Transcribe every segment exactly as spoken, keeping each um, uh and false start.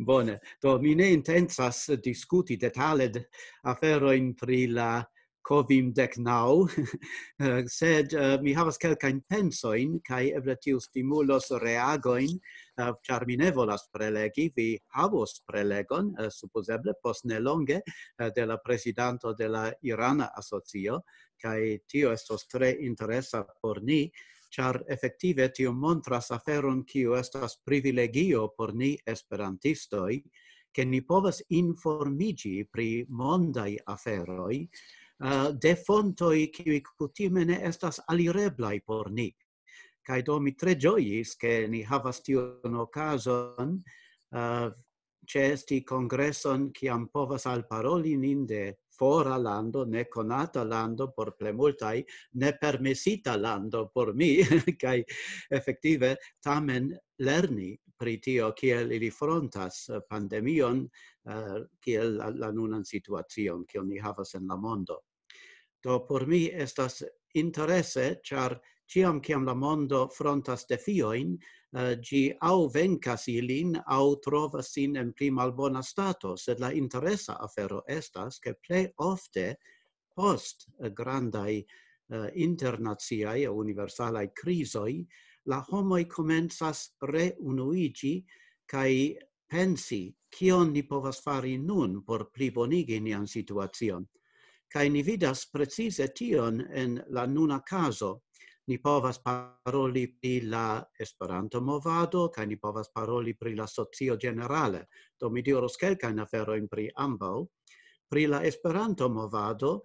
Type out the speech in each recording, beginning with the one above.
Bone, do mi ne intencas diskuti detale d-, aferojn pri la Covim dek naŭ, eh, sed, eh, mi havas kelkajn pensojn, kaj eble tio stimulos reagojn, eh, ĉar mi ne volas prelegi, vi havos prelegon, eh, supozeble post nelonge, eh, de la prezidanto de la Irana Asocio, kaj tio estos tre interesa por ni, ĉar efektive tio montras aferon, kiu estas privilegio por ni esperantistoj, ke ni povas informiĝi pri mondaj aferoj, eh, de fontoj, kiuj kutime ne estas alireblaj por ni. Kaj do mi tre ĝojis, ke ni havas tiun okazon, eh, ĉeesti kongreson, kiam povas alparoli nin de fora lando, nekonata lando por plimultaj, nepermesita lando por mi, kaj efektive tamen lerni pri tio, kiel ili frontas, eh, pandemion, eh, kiel la, la nunan situacion, kion ni havas en la mondo. Do por mi estas interese, ĉar ĉiam kiam la mondo frontas defiojn, eh, ĝi aŭ venkas ilin, aŭ trovas sin en pli malbona stato, sed la interesa afero estas, ke plej ofte post, eh, grandaj, eh, internaciaj aŭ universalaj krizoj, la homoj komencas reunuiĝi kaj pensi, kion ni povas fari nun por plibonigi nian situacion. Kaj ni vidas precize tion en la nuna kazo. Ni povas paroli pri la Esperanto-movado, kaj ni povas paroli pri la socio ĝenerale. Do mi diros kelkajn aferojn pri ambaŭ. Pri la Esperanto-movado,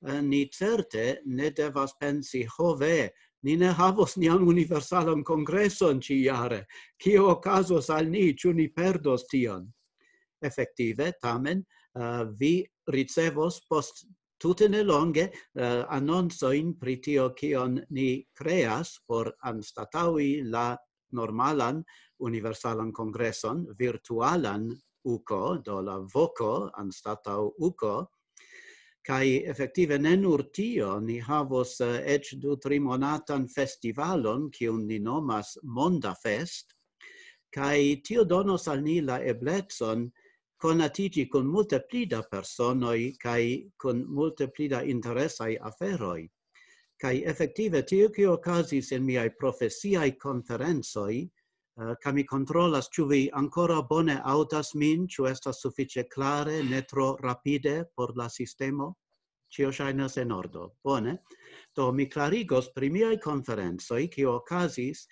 eh, ni certe ne devas pensi, "Ho ve, ni ne havos nian universalan kongreson ĉijare. Kio okazos al ni, ĉu ni perdos tion?" Efektive, tamen, eh, vi ricevos post tute nelonge, eh, anoncojn pri tio, kion ni kreas por anstataŭi la normalan universalan kongreson, virtualan uko, do la voko anstataŭ uko. Kaj efektive ne nur tio, ni havos, eh, eĉ du, tri monatan festivalon, kiun ni nomas Monda Fest, kaj tio donos al ni la eblecon konatiĝi kun multe pli da personoj kaj kun multe pli da interesaj aferoj. Kaj efektive tio, kio okazis en miaj profesiaj konferencoj, eh, kaj mi kontrolas, ĉu vi ankoraŭ bone aŭdas min, ĉu estas sufiĉe klare, ne tro rapide por la sistemo? Ĉio ŝajnas en ordo. Bone. Do mi klarigos pri miaj konferencoj, kio okazis,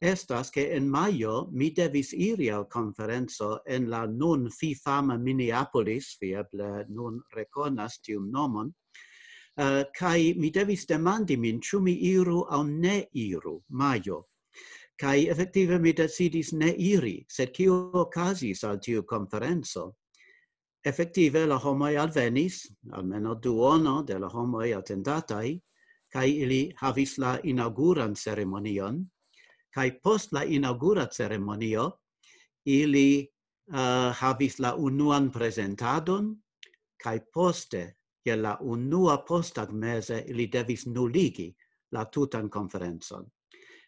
estas, ke en majo mi devis iri al konferenco en la nun fifama Minneapolis, vi eble nun rekonas tiun nomon, eh, kaj mi devis demandi min, ĉu mi iru aŭ ne iru, majo. Kaj efektive mi decidis ne iri, sed kio okazis al tiu konferenco? Efektive la homoj alvenis, almenaŭ duono de la homoj atendataj, kaj ili havis la inaŭguran ceremonion, kaj post la inaŭgura ceremonio ili, eh, havis la unuan prezentadon, kaj poste, je la unua posttagmeze, ili devis nuligi la tutan konferencon.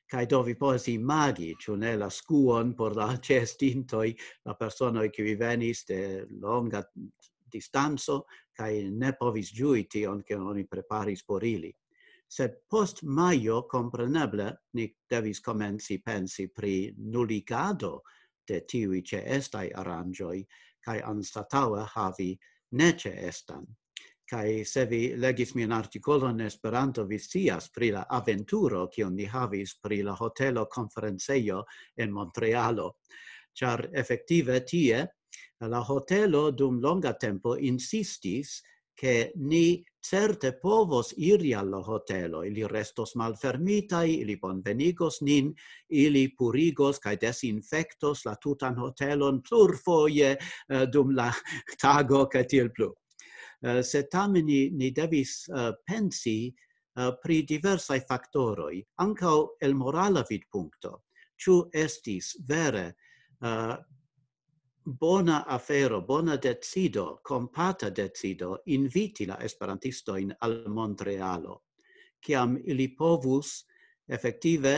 Kaj do vi povas imagi, ĉu ne, la skuon por la ĉeestintoj, la personoj, kiuj venis de longa distanco, kaj ne povis ĝui tion, kion oni preparis por ili. Sed post majo, kompreneble, ni devis komenci pensi pri nuligado de tiuj ĉeestaj aranĝoj, kaj anstataŭe havi neĉeestan. Kaj se vi legis mian artikolon en Esperanto, vi scias pri la aventuro, kiun ni havis pri la hotelo konferencejo en Montrealo. Ĉar efektive tie la hotelo dum longa tempo insistis, ke ni certe povos iri al la hotelo, ili restos malfermitaj, ili bonvenigos nin, ili purigos kaj desinfektos la tutan hotelon plurfoje, eh, dum la tago kaj tiel plu. Eh, sed tamen ni, ni devis, eh, pensi, eh, pri diversaj faktoroj, ankaŭ el morala vidpunkto. Ĉu estis vere, eh, bona afero, bona decido, kompata decido inviti la esperantistojn al Montrealo, kiam ili povus efektive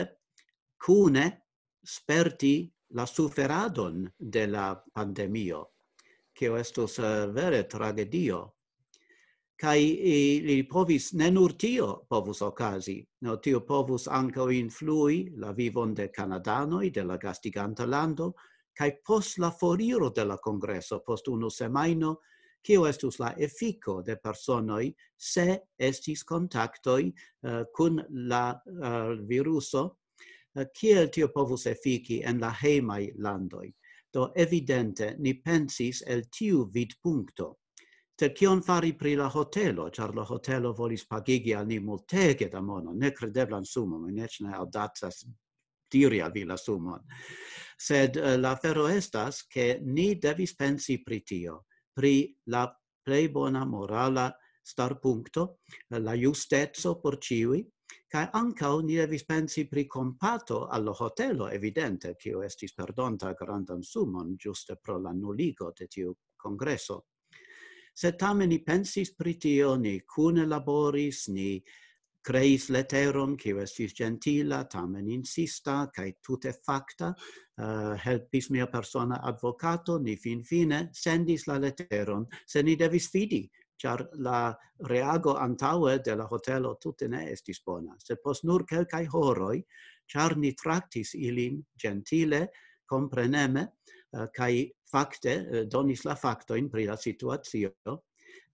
kune sperti la suferadon de la pandemio, kio estus eh, vere tragedio. Kaj ili povis, ne nur tio povus okazi, no tio povus ankaŭ influi la vivon de kanadanoj, de la gastiganta lando, kaj post la foriro de la kongreso, post unu semajno, kio estus la efiko de personoj se estis kontaktoj eh, kun la eh, viruso, eh, kiel tio povus efiki en la hejmaj landoj. Do evidente ni pensis el tiu vidpunkto. Sed kion fari pri la hotelo, ĉar la hotelo volis pagigi al ni multege da mono, nekredeblan sumon, mi eĉ ne aŭdacas diri al vi la sumon. Sed eh, la afero estas, ke ni devis pensi pri tio, pri la plej bona morala starpunkto, eh, la justeco por ĉiuj, kaj ankaŭ ni devis pensi pri kompato al la hotelo, evidente, kiu estis perdonta grandan sumon ĝuste pro la nuligo de tiu kongreso. Sed tamen ni pensis pri tio, ni kune laboris, ni kreis leteron, kiu estis ĝentila, tamen insista, kaj tute fakta, eh, helpis mia persona advokato, ni finfine sendis la leteron, se ni devis fidi, ĉar la reago antaŭe de la hotelo tute ne estis bona. Sed post nur kelkaj horoj, ĉar ni traktis ilin ĝentile, kompreneme, eh, kaj fakte eh, donis la faktojn pri la situacio,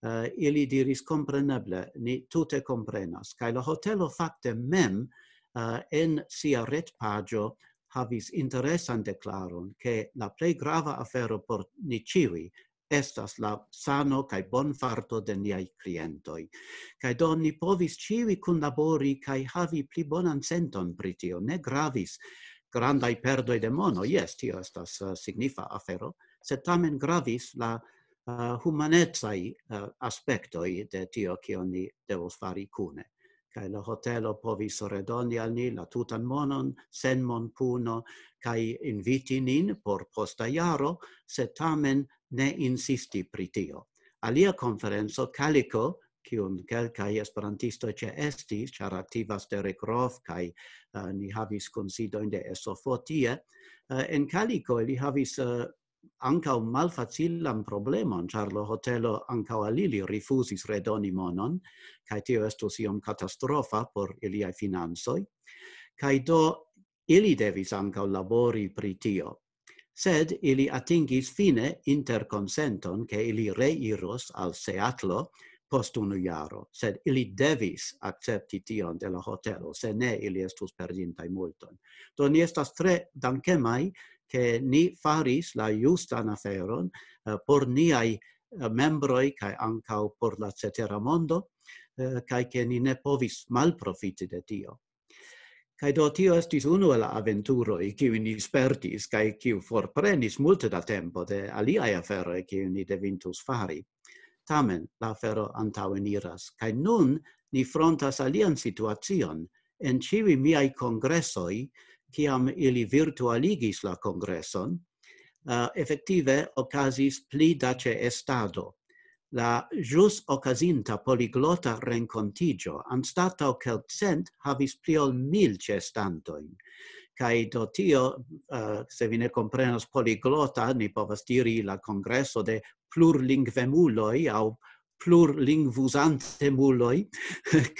eh, ili diris: "Kompreneble, ni tute komprenas." Kaj la hotelo fakte mem eh, en sia retpaĝo havis interesan deklaron, ke la plej grava afero por ni ĉiuj estas la sano kaj bonfarto de niaj klientoj. Kaj do ni povis ĉiuj kunlabori kaj havi pli bonan senton pri tio. Ne gravis grandaj perdoj de mono, jes, tio estas eh, signifa afero, sed tamen gravis la eh, humanecaj eh, aspektoj de tio, kion ni devos fari kune. Kaj la hotelo povis redoni al ni la tutan monon sen monpuno, kaj inviti nin por posta jaro, se tamen ne insisti pri tio. Alia konferenco, Kaliko, kiun kelkaj esperantistoj ĉeestis, ĉar aktivas Derek Roth, kaj eh, ni havis kunsidojn de S O F tie. Eh, en Kaliko ili havis eh, ankaŭ malfacilan problemon, ĉar la hotelo ankaŭ al ili rifuzis redoni monon, kaj tio estus iom katastrofa por iliaj financoj. Kaj do ili devis ankaŭ labori pri tio. Sed ili atingis fine interkonsenton, ke ili reiros al Seatlo post unu jaro, sed ili devis akcepti tion de la hotelo, se ne ili estus perdintaj multon. Do ni estas tre dankemaj, ke ni faris la justan aferon eh, por niaj eh, membroj kaj ankaŭ por la cetera mondo, eh, kaj ke ni ne povis malprofiti de tio. Kaj do tio estis unu el la aventuroj, kiu ni spertis, kaj kiu forprenis multe da tempo de aliaj aferoj, kiu ni devintus fari. Tamen la afero antaŭeniras, kaj nun ni frontas alian situacion. En ĉiuj miaj kongresoj, kiam ili virtualigis la kongreson, eh, efektive okazis pli da ĉeestado. La ĵus okazinta poliglota renkontiĝo, anstataŭ kelkcent, havis pli ol mil ĉeestantojn. Kaj do tio, eh, se vi ne komprenas poliglota, ni povas diri la kongreso de plurlingvemuloj aŭ plurlingvuzantemuloj,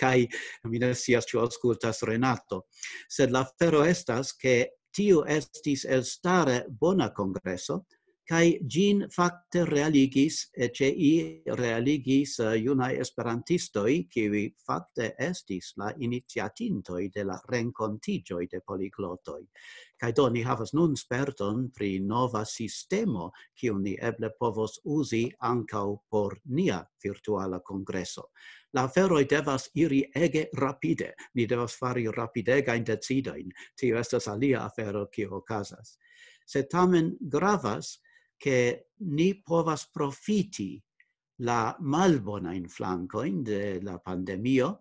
kaj mi ne scias, ĉu aŭskultas Renato. Sed la afero estas, ke tiu estis elstare bona kongreso, kaj ĝin fakte realigis, eh, ĉe i realigis eh, junaj esperantistoj, kiuj fakte estis la iniciatintoj de la renkontiĝoj de poliglotoj. Kaj do ni havas nun sperton pri nova sistemo, kiun ni eble povos uzi ankaŭ por nia virtuala kongreso. La aferoj devas iri ege rapide. Ni devas fari rapidegajn decidojn. Tio estas alia afero, kio okazas. Sed tamen gravas, ke ni povas profiti la malbonajn flankojn de la pandemio,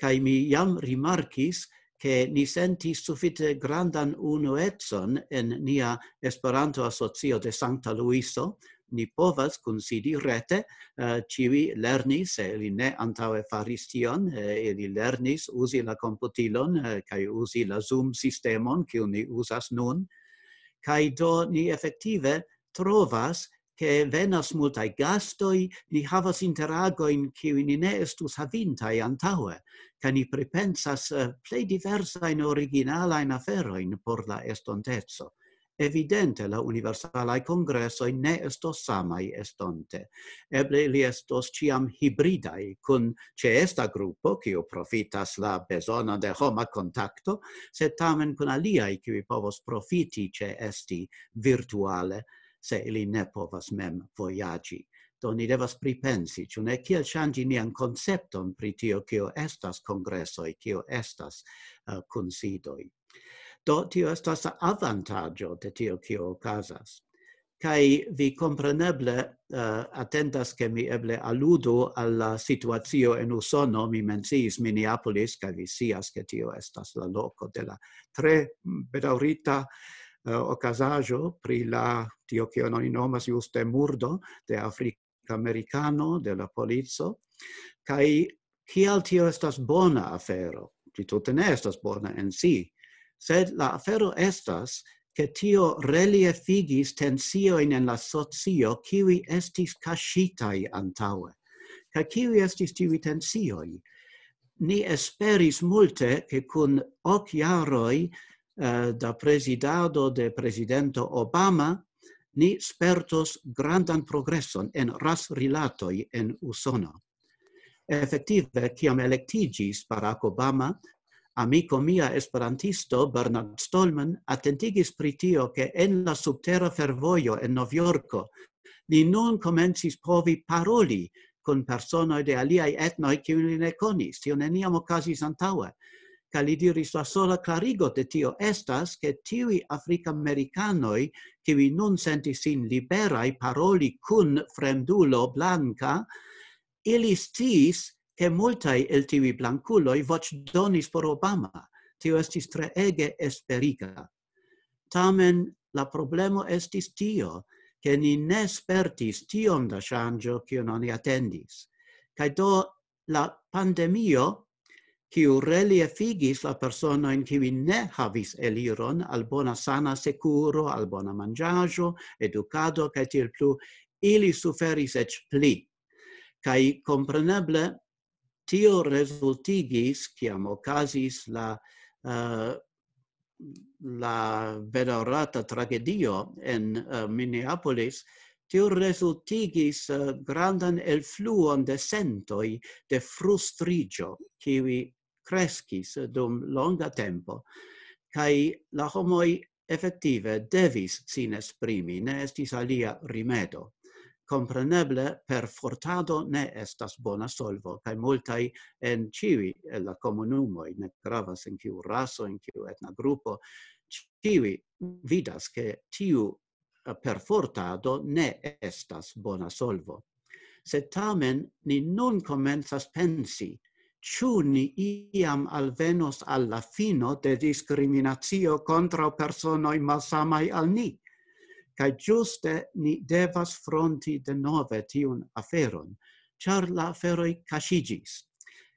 kaj mi jam rimarkis, ke ni sentis sufiĉe grandan unuecon en nia Esperanto-asocio de Sankta Luiso. Ni povas kunsidi rete, eh, ĉiuj lernis, se ili ne antaŭe faris tion, eh, ili lernis uzi la komputilon, eh, kaj uzi la Zoom-sistemon, kiun ni uzas nun. Kaj do ni efektive trovas, ke venas multaj gastoj, ni havas interagojn, kiuj ni ne estus havintaj antaŭe, kaj ni pripensas eh, plej diversajn originalajn aferojn por la estonteco. Evidente, la universalaj kongresoj ne estos samaj estonte. Eble ili estos ĉiam hibridaj, kun ĉeesta grupo, kiu profitas la bezonon de homa kontakto, sed tamen kun aliaj, kiuj povos profiti ĉeesti virtuale, se ili ne povas mem vojaĝi. Do ni devas pripensi, ĉu ne, kiel ŝanĝi nian koncepton pri tio, kio estas kongresoj, kio estas uh, kunsidoj. Do tio estas avantaĝo de tio, kio okazas. Kaj vi kompreneble uh, atendas, ke mi eble aludu al la situacio en Usono. Mi menciis Minneapolis, kaj vi scias, ke tio estas la loko de la tre bedaŭrita uh, okazaĵo pri la tio, kion oni nomas juste murdo de Afrika-Amerikano, de la polico. Kaj kial tio estas bona afero? Ĝi tute ne estas bona en si, sed la afero estas, ke tio reliefigis tensiojn en la socio, kiuj estis kaŝitaj antaŭe. Kaj kiuj estis tiuj tensioj? Ni esperis multe, ke kun ok jaroj eh, da prezidado de prezidento Obama, ni spertos grandan progreson en rasrilatoj en Usono. Efektive, kiam elektiĝis Barack Obama, amiko mia esperantisto Bernard Stolman atentigis pri tio, ke en la subtera fervojo en Novjorko ni nun komencis povi paroli kun personoj de aliaj etnoj, kiujn li ne konis. Tio neniam okazis antaŭe. Kaj li diris, la sola klarigo de tio estas, ke tiuj Afrikamerikanoj, kiuj nun sentis sin liberaj paroli kun fremdulo blanka, ili sciis, ke multaj el tiuj blankuloj voĉdonis por Obama. Tio estis treege esperiga. Tamen la problemo estis tio, ke ni ne spertis tiom da ŝanĝo, kion oni atendis. Kaj do la pandemio, kiu reliefigis la personojn, kiuj ne havis eliron al bona sana sekuro, al bona manĝaĵo, edukado, kaj tiel plu, ili suferis eĉ pli. Kaj kompreneble tio rezultigis, kiam okazis la, uh, la bedaŭrata tragedio en uh, Minneapolis, tio rezultigis uh, grandan elfluon de sentoj de frustriĝo, kiuj kreskis dum longa tempo, kaj la homoj efektive devis sin esprimi, ne estis alia rimedo. Kompreneble, perfortado ne estas bona solvo, kaj multaj en ĉiuj el la komunumoj, ne gravas en kiu raso, en kiu etna grupo, ĉiuj vidas, ke tiu perfortado ne estas bona solvo. Sed tamen ni nun komencas pensi, ĉu ni iam alvenos al la fino de diskriminacio kontraŭ personoj malsamaj al ni. Kaj ĝuste ni devas fronti denove tiun aferon, ĉar la aferoj kaŝiĝis.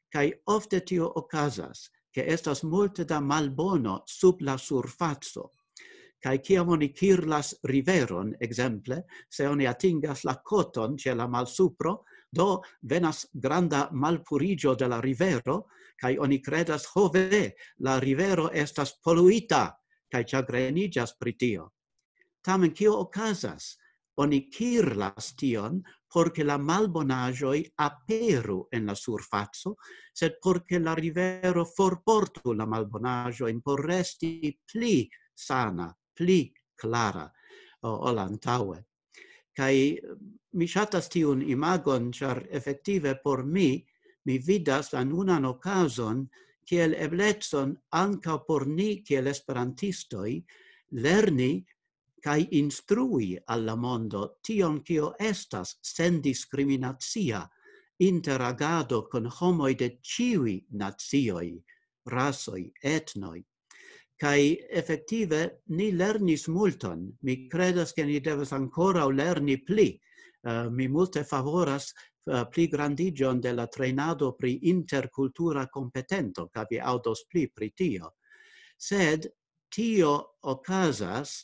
Kaj ofte tio okazas, ke estas multe da malbono sub la surfaco. Kaj kiam oni kirlas riveron, ekzemple, se oni atingas la koton ĉe la malsupro, do venas granda malpuriĝo de la rivero, kaj oni kredas, ho ve, la rivero estas poluita, kaj ĉagreniĝas pri tio. Tamen kio okazas? Oni kirlas tion, por ke la malbonaĵoj aperu en la surfaco, sed por ke la rivero forportu la malbonaĵojn, por resti pli sana, pli klara, o, ol antaŭe. Kaj mi ŝatas tiun imagon, ĉar efektive por mi, mi vidas la nunan okazon kiel eblecon ankaŭ por ni kiel esperantistoj lerni kaj instrui al la mondo tion, kio estas sendiskriminacia interagado kun homoj de ĉiuj nacioj, rasoj, etnoj. Kaj efektive ni lernis multon. Mi kredas, ke ni devas ankoraŭ lerni pli. Uh, mi multe favoras uh, pli grandiĝon de la trejnado pri interkultura kompetento, kaj vi aŭdos pli pri tio. Sed tio okazas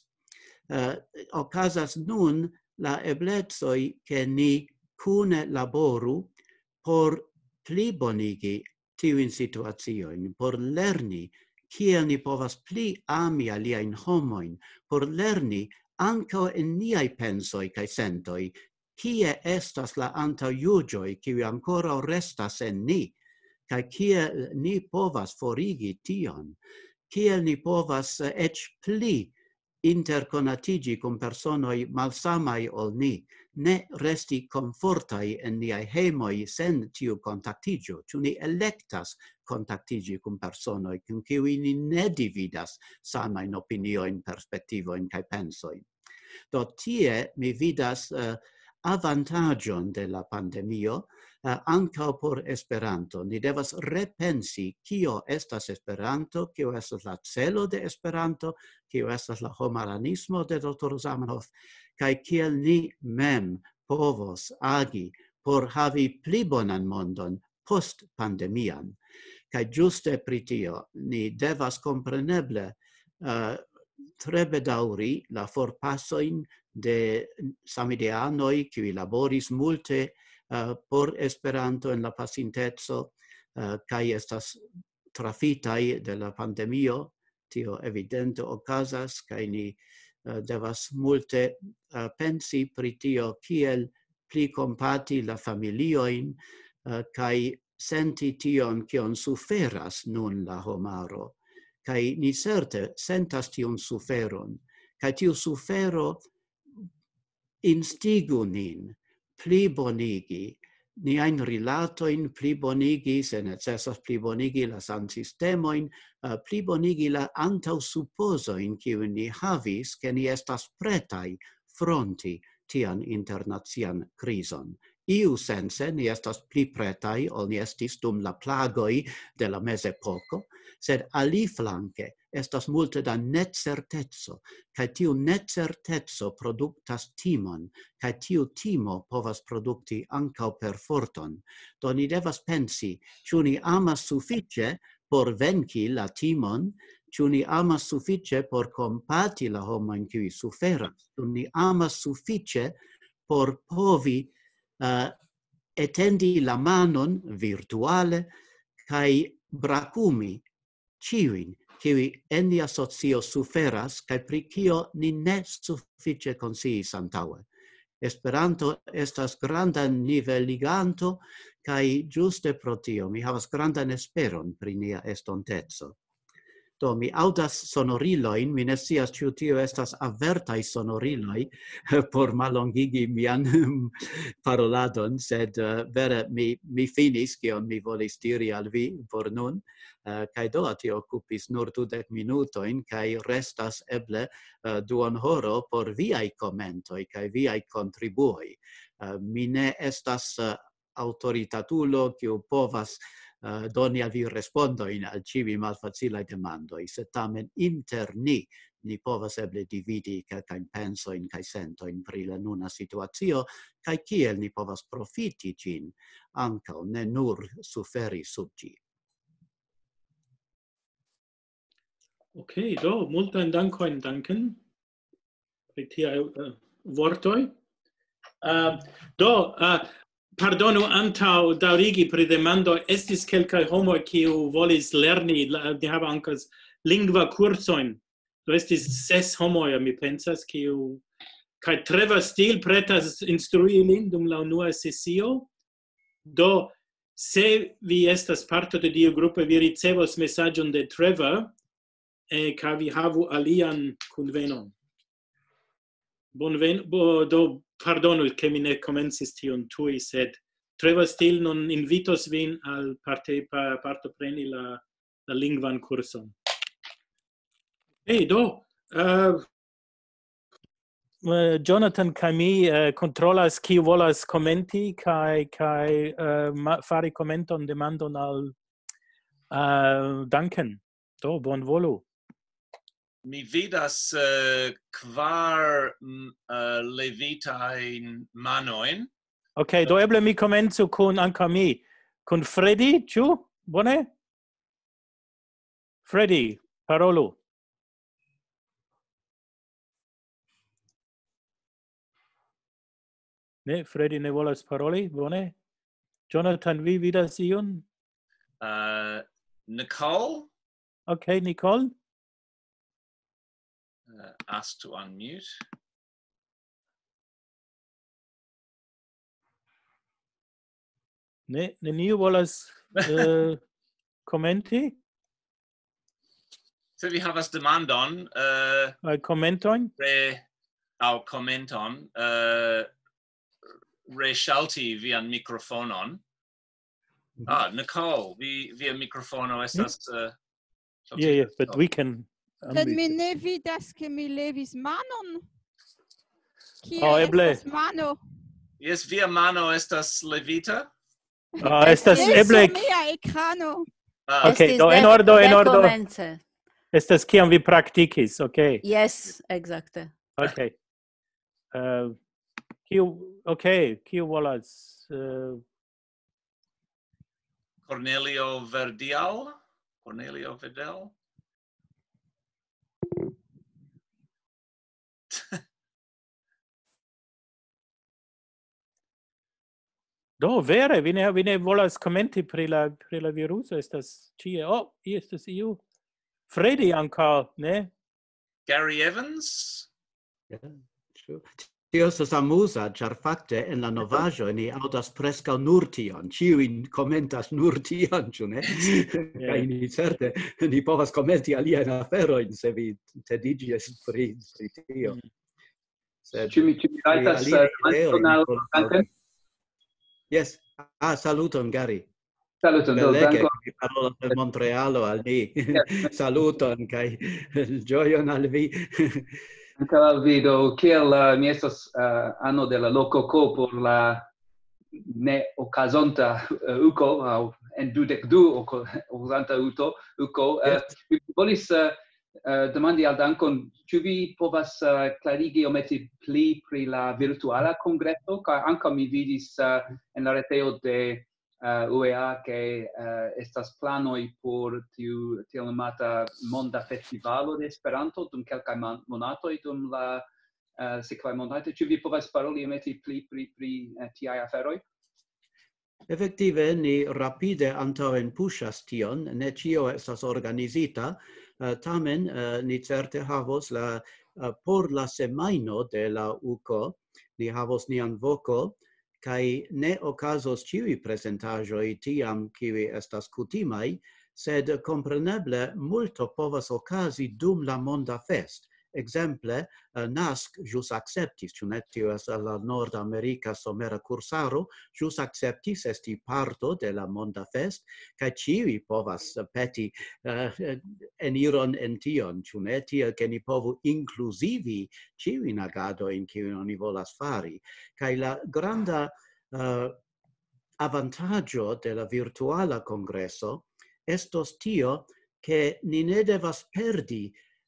Eh, okazas nun la eblecoj, ke ni kune laboru por plibonigi tiujn situaciojn, por lerni kiel ni povas pli ami aliajn homojn, por lerni ankaŭ en niaj pensoj kaj sentoj, kie estas la antaŭjuĝoj, kiuj ankoraŭ restas en ni, kaj kiel ni povas forigi tion, kiel ni povas, eh, eĉ pli interkonatiĝi kun personoj malsamaj ol ni, ne resti komfortaj en niaj hejmoj sen tiu kontaktiĝo. Ĉu ni elektas kontaktiĝi kun personoj, kun kiuj ni ne dividas samajn opiniojn, perspektivojn kaj pensojn? Do tie mi vidas, eh, avantaĝon de la pandemio, eh, ankaŭ por Esperanto. Ni devas repensi, kio estas Esperanto, kio estas la celo de Esperanto, kio estas la homaranismo de Dr. Zamenhof, kaj kiel ni mem povos agi por havi pli bonan mondon post pandemian. Kaj ĝuste pri tio ni devas kompreneble, eh, tre bedaŭri la forpasojn de samideanoj, kiuj laboris multe, eh, por Esperanto en la pasinteco, eh, kaj estas trafitaj de la pandemio. Tio evidente okazas, kaj ni, eh, devas multe, eh, pensi pri tio, kiel pli kompati la familiojn, eh, kaj senti tion, kion suferas nun la homaro. Kaj ni certe sentas tiun suferon. Kaj tiu sufero instigu nin pli bonigi niajn rilatojn, pli bonigi, se necesas, pli bonigi la sansistemojn, eh, pli bonigi la antaŭsupozojn, kiujn ni havis, ke ni estas pretaj fronti tian internacian krizon. Iu sense ni estas pli pretaj ol ni estis dum la plagoj de la mezepoko, sed aliflanke estas multe da necerteco, kaj tiu necerteco produktas timon, kaj tiu timo povas produkti ankaŭ perforton. Do ni devas pensi, ĉu ni amas sufiĉe por venki la timon, ĉu ni amas sufiĉe por kompati la homojn, kiuj suferas, ĉu ni amas sufiĉe por povi, eh, etendi la manon virtuale kaj brakumi ĉiujn, kiuj en nia socio suferas kaj pri kio ni ne sufiĉe konsciis antaŭe. Esperanto estas granda niveliganto, kaj ĝuste pro tio mi havas grandan esperon pri nia estonteco. Do, mi aŭdas sonorilojn, mi ne scias, ĉu tio estas avertaj sonoriloj por mallongigi mian paroladon, sed, eh, vere mi, mi finis, kion mi volis diri al vi por nun. Eh, kaj do, tio okupis nur dudek minutojn, kaj restas eble, eh, duon horo por viaj komentoj kaj viaj kontribuoj. Eh, mi ne estas, eh, aŭtoritatulo, kiu povas, eh, doni al vi respondojn al ĉiuj malfacilaj demandoj, sed tamen inter ni, ni povas eble dividi kelkajn pensojn kaj sentojn pri la nuna situacio, kaj kiel ni povas profiti ĝin, ankaŭ ne nur suferi sub ĝi. Ok, do, multajn dankojn, Duncan, pri tiaj, eh, vortoj. Eh, do, eh, pardonu, antaŭ daŭrigi pri demandoj, estis kelkaj homoj, kiu volis lerni, la, ni havas ankaŭ lingva kursojn. Do estis ses homoj, mi pensas, kiu, kaj Trevor Steele pretas instrui ilin dum la unua sesio. Do, se vi estas parto de tiu grupo, vi ricevos mesaĝon de Trevor, eh, kaj vi havu alian kunvenon. Bonven-, bo-, do, pardonu, ke mi ne komencis tion tuj, sed Trevor Steele nun invitos vin al parte-, pa-, partopreni la, la lingvan kurson. Hej, do, eh, eh, Jonathan kaj mi, eh, kontrolas, kiu volas komenti kaj, kaj, eh, ma-, fari komenton, demandon al, eh, Duncan. Do, bonvolu. Mi vidas, eh, kvar, mm, eh, levitajn manojn. Ok, do eble mi komencu kun ankaŭ mi. Kun Freddy, ĉu? Bone? Freddy, parolu. Ne, Freddy ne volas paroli, bone. Jonathan, vi vidas iun? Uh, Nicole? Ok, Nicole? Uh, ask to unmute. Ne, neniu volas uh, komenti? Se vi havas demandon, uh, uh, komentojn? Re, aŭ komenton, uh, reŝalti vian mikrofonon. Ah, Nicole, vi, via mikrofono estas... Uh, yeah, yeah, but we can... Sed mi ne vidas, ke mi levis manon. Kie oh, eble. Estas mano? Jes, via mano estas levita. Ah, estas eble mia ekrano. Ah. Ok, do en ordo, en ordo. Estas kiam vi praktikis, ok. Yes, exacte. Ok. Uh, kiu, ok, kiu volas... Uh... Cornelio Verdial? Cornelio Verdal? Do, vere, vi ne, vi ne volas komenti pri la, pri la viruso, estas ĉie. Oh, estas iu. Freddy ankaŭ, ne? Gary Evans? Yeah, sure. Tio estas amuza, ĉar fakte en la novaĵo ni aŭdas preskaŭ nur tion. Ĉiuj komentas nur tion, ĉu ne? Kaj ni certe, ni povas komenti aliajn aferojn, se vi tediĝas pri, pri tio. Sed, ĉu mi, ĉu mi rajtas... Yes. Ah, saluton, Gary. Saluton, do, belege, vi parolas de Montrealo al ni. Saluton kaj ĝojon al vi. Ankaŭ al vi, do, kiel uh, mi estas uh, ano de la loko ko por la ne okazonta uh, uko, aŭ en dudek du okazanta uto, uko, uh, yes. Mi volis uh, uh, demandi al Dankon, ĉu vi povas uh, klarigi iomete pli pri la virtuala kongreso, kaj ankaŭ mi vidis uh, en la retejo de uh, U E A, ke uh, estas planoj por tiu tiel nomata monda festivalo de Esperanto dum kelkaj monatoj, dum la uh, sekvaj monatoj. Ĉu vi povas paroli iomete pli pri, pri uh, tiaj aferoj? Efektive, ni rapide antaŭen puŝas tion, ne ĉio estas organizita, uh, tamen uh, ni certe havos la, uh, por la semajno de la uko, ni havos nian voko, kaj ne okazos ĉiuj prezentaĵoj tiam, kiuj estas kutimaj, sed kompreneble multo povas okazi dum la monda fest. Ekzemple, uh, Nask ĵus akceptis, ĉu ne, tio estas la nordamerika somera kursaro, ĵus akceptis esti parto de la monda fest, kaj ĉiuj povas peti uh, eniron en tion, ĉu ne, tiel ke ni povu inkluzivi ĉiujn agadojn, kiujn oni volas fari. Kaj la granda uh, avantaĝo de la virtuala kongreso estos tio, ke ni ne devas perdi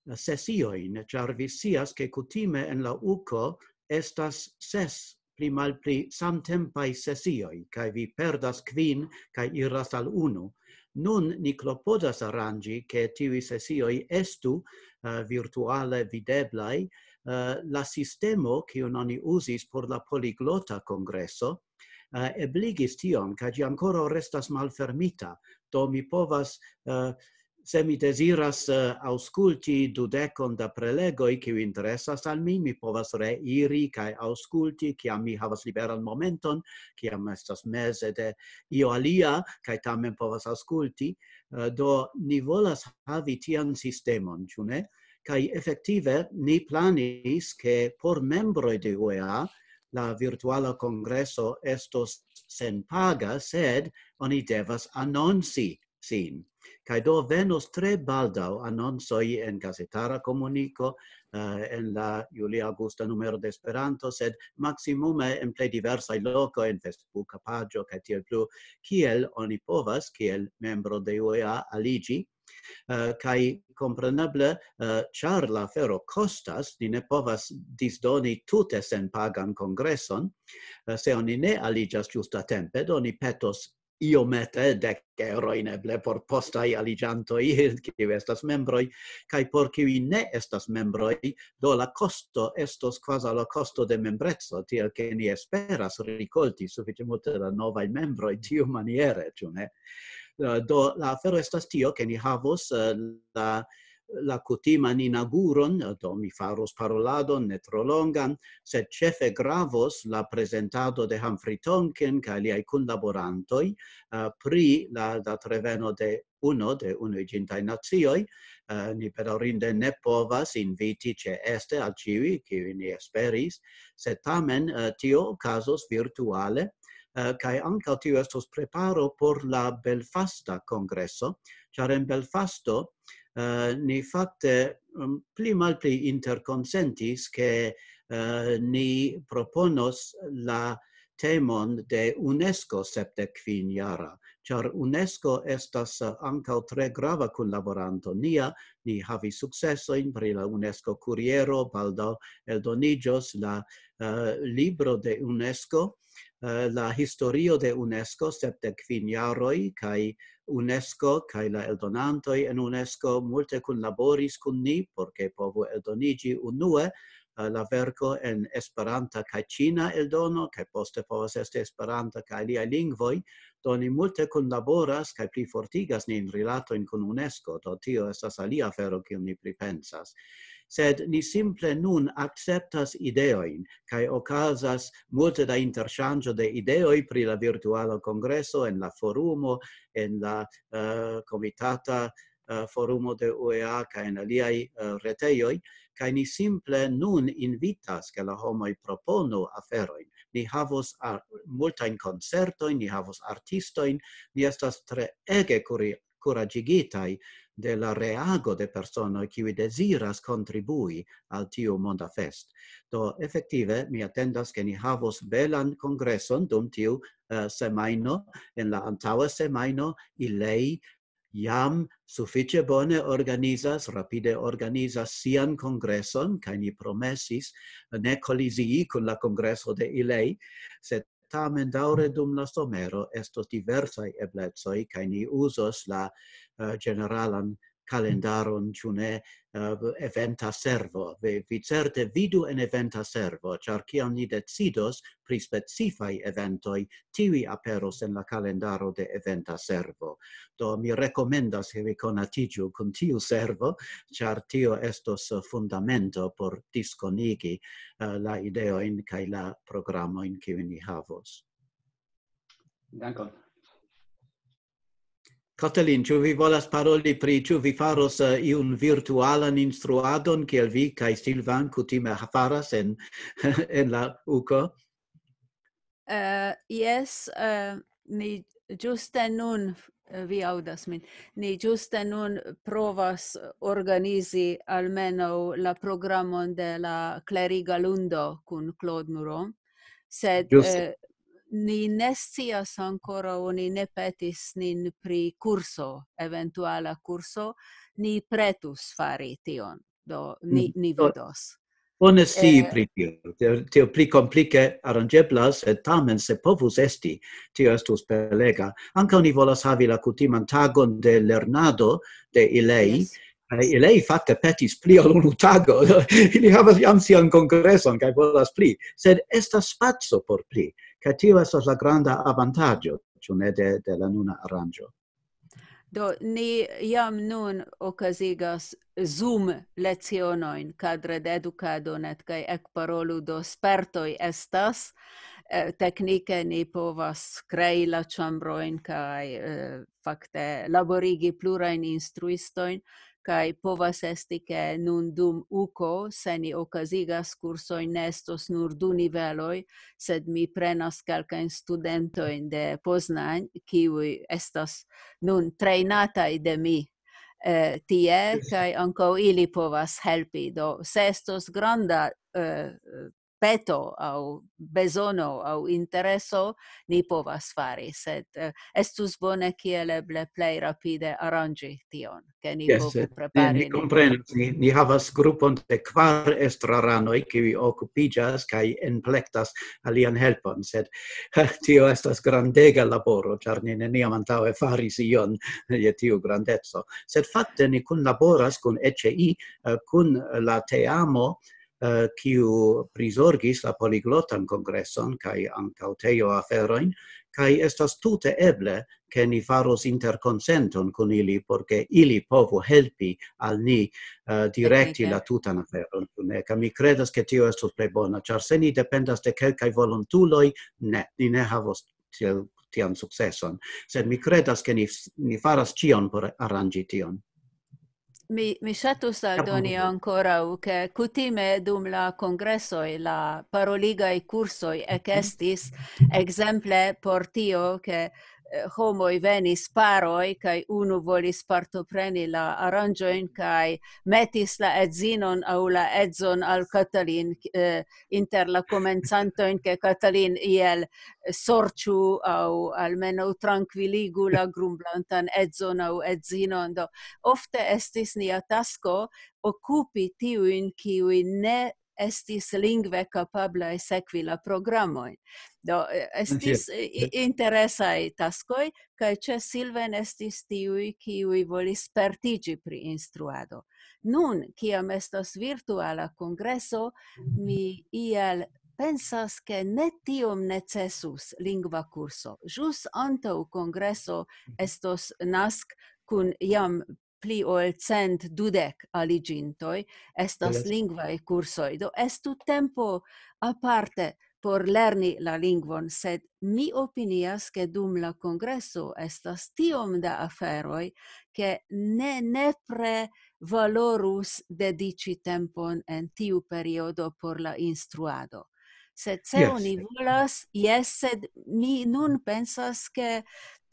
sesiojn, ĉar vi scias, ke kutime en la uko estas ses pli malpli samtempaj sesioj, kaj vi perdas kvin kaj iras al unu. Nun ni klopodas aranĝi, ke tiuj sesioj estu uh, virtuale videblaj. Uh, la sistemo, kiun oni uzis por la poliglota kongreso, uh, ebligis tion, kaj ĝi ankoraŭ restas malfermita. Do mi povas uh, se mi deziras uh, aŭskulti dudekon da prelegoj, kiu interesas al mi, mi povas reiri kaj aŭskulti, kiam mi havas liberan momenton, kiam estas meze de io alia, kaj tamen povas aŭskulti. Uh, do ni volas havi tian sistemon, ĉu ne? Kaj efektive ni planis, ke por membroj de U E A la virtuala kongreso estos senpaga, sed oni devas anonci sin. Kaj do venos tre baldaŭ anoncoj en gazetara komuniko, uh, en la julia-aŭgusta numero de Esperanto, sed maksimume en plej diversaj lokoj, en Facebooka paĝo kaj tiel plu, kiel oni povas, kiel membro de U E A, aliĝi. Uh, kaj kompreneble, uh, ĉar la afero kostas, ni ne povas disdoni tute senpagan kongreson. Uh, se oni ne aliĝas ĝustatempe, do ni petos iomete, dek eŭrojn eble por postaj aliĝantoj, kiuj estas membroj, kaj por kiuj ne estas membroj, do la kosto estos kvazaŭ la kosto de membreco, tiel ke ni esperas rikolti sufiĉe multe da novaj membroj tiumaniere, ĉu ne? Eh, do la afero estas tio, ke ni havos, eh, la la kutiman inaŭguron, do mi faros paroladon ne tro longan, sed ĉefe gravos la prezentado de Humphrey Tonkin kaj liaj kunlaborantoj, eh, pri la datreveno de UNO, de Unuiĝintaj Nacioj. Eh, ni bedaŭrinde ne povas inviti ĉeeste al ĉiuj, kiuj ni esperis, sed tamen, eh, tio okazos virtuale, eh, kaj ankaŭ tio estos preparo por la Belfasta kongreso, ĉar en Belfasto, eh, ni fakte, mm, pli malpli interkonsentis, ke, eh, ni proponos la temon de UNESCO sepdek kvin jara, ĉar UNESCO estas, eh, ankaŭ tre grava kunlaboranto nia. Ni havis sukcesojn pri la UNESCO kuriero, baldaŭ eldoniĝos la, eh, libro de UNESCO, eh, la historio de UNESCO, sepdek kvin jaroj, kaj UNESCO kaj la eldonantoj en UNESCO multe kunlaboris kun ni, por ke povu eldoniĝi unue, eh, la verko en Esperanta kaj ĉina eldono, kaj poste povas esti Esperanta kaj aliaj lingvoj. Do ni multe kunlaboras kaj plifortigas nin rilatojn kun UNESCO, do tio estas alia afero, kiun ni pripensas. Sed ni simple nun akceptas ideojn, kaj okazas multe da interŝanĝo de ideoj pri la virtuala kongreso en la forumo, en la, eh, komitata, eh, forumo de U E A kaj en aliaj, eh, retejoj, kaj ni simple nun invitas, ke la homoj proponu aferojn. Ni havos ar-, multajn koncertojn, ni havos artistojn, ni estas tre ege kuri-, kuraĝigitaj de la reago de personoj, kiuj deziras kontribui al tiu monda fest. Do, efektive, mi atendas, ke ni havos belan kongreson dum tiu, eh, semajno. En la antaŭa semajno, ILEI jam sufiĉe bone organizas, rapide organizas sian kongreson, kaj ni promesis ne kolizii kun la kongreso de ILEI, sed tamen daŭre dum la somero estos diversaj eblecoj, kaj ni uzos la, eh, ĝeneralan kalendaron, ĉu ne, eh, eventa servo. Vi, vi certe vidu en eventa servo, ĉar kiam ni decidos pri specifaj eventoj, tiuj aperos en la kalendaro de eventa servo. Do mi rekomendas, ke vi konatiĝu kun tiu servo, ĉar tio estos fundamento por diskonigi, eh, la ideojn kaj la programojn, kiujn ni havos. Dankon. Katalin, ĉu vi volas paroli pri, ĉu vi faros, eh, iun virtualan instruadon, kiel vi kaj Silvan kutime ha-, faras en, en la uko? Eh, jes, eh, ni ĝuste nun, eh, vi aŭdas min, ni ĝuste nun provas organizi almenaŭ la programon de la kleriga lundo kun Claude Muron, sed, ĝuste, eh, ni ne scias ankoraŭ, oni ne petis nin pri kurso, eventuala kurso, ni pretus fari tion, do ni, mhm, ni vidos. Bone scii, eh, pri tio. Tio, tio pli komplike aranĝeblas, sed tamen se povus esti, tio estus belega. Ankaŭ ni volas havi la kutiman tagon de lernado de ILEI. Jes. Eh, ILEI fakte petis pli ol unu tago. Ili havas jam sian kongreson kaj volas pli. Sed estas spaco por pli. Kaj tio estas la granda avantaĝo, ĉu ne, de, de la nuna aranĝo. Do, ni jam nun okazigas Zoom lecionojn, kadre de edukado net kaj ekparolu, do spertoj estas. Eh, teknike ni povas krei la ĉambrojn kaj, eh, fakte laborigi plurajn instruistojn, kaj povas esti, ke nun dum uko, se ni okazigas kursojn, ne estos nur du niveloj, sed mi prenas kelkajn studentojn de Poznań, kiuj estas nun trejnataj de mi, eh, tie, kaj ankaŭ ili povas helpi. Do, se estos granda, eh, peto aŭ bezono aŭ intereso, ni povas fari, sed, eh, estus bone kiel eble plej rapide aranĝi tion, ke ni Jes, povu sed prepari mi nin. Komprenas, ni, ni havas grupon de kvar estraranoj, kiuj okupiĝas kaj enplektas alian helpon, sed tio estas grandega laboro, ĉar ni neniam antaŭe faris ion je tiu grandeco. Sed fakte ni kunlaboras kun E C I, eh, kun la teamo, eh, kiu prizorgis la poliglotan kongreson kaj ankaŭ teo aferojn, kaj estas tute eble, ke ni faros interkonsenton kun ili, por ke ili povu helpi al ni, eh, direkti Teknike. La tutan aferon, ĉu ne? Kaj mi kredas, ke tio estos plej bona, ĉar se ni dependas de kelkaj volontuloj, ne, ni ne havos tiel, tian sukceson. Sed mi kredas, ke ni, ni faras ĉion por aranĝi tion. Mi, mi ŝatus aldoni ankoraŭ, ke kutime dum la kongresoj la paroligaj kursoj ekestis, ekzemple por tio, ke, eh, homoj venis paroj, kaj unu volis partopreni la aranĝojn, kaj metis la edzinon aŭ la edzon al Katalin, eh, inter la komencantojn, ke Katalin iel sorĉu aŭ almenaŭ trankviligu la grumblantan edzon aŭ edzinon. Do, ofte estis nia tasko okupi tiujn, kiuj ne estis lingve kapablaj sekvi la programojn. Do, eh, estis Jes. I-, i-, interesaj taskoj, kaj ĉe Silven estis tiuj, kiuj volis spertiĝi pri instruado. Nun, kiam estas virtuala kongreso, mi iel pensas, ke ne tiom necesus lingva kurso. Ĵus antaŭ kongreso estos nask kun jam pli ol cent dudek aliĝintoj, estas Yes. Lingvaj kursoj. Do estu tempo aparte por lerni la lingvon, sed mi opinias, ke dum la kongreso estas tiom da aferoj, ke ne nepre valorus dediĉi tempon en tiu periodo por la instruado. Sed se Jes. Oni volas, jes, sed mi nun pensas, ke,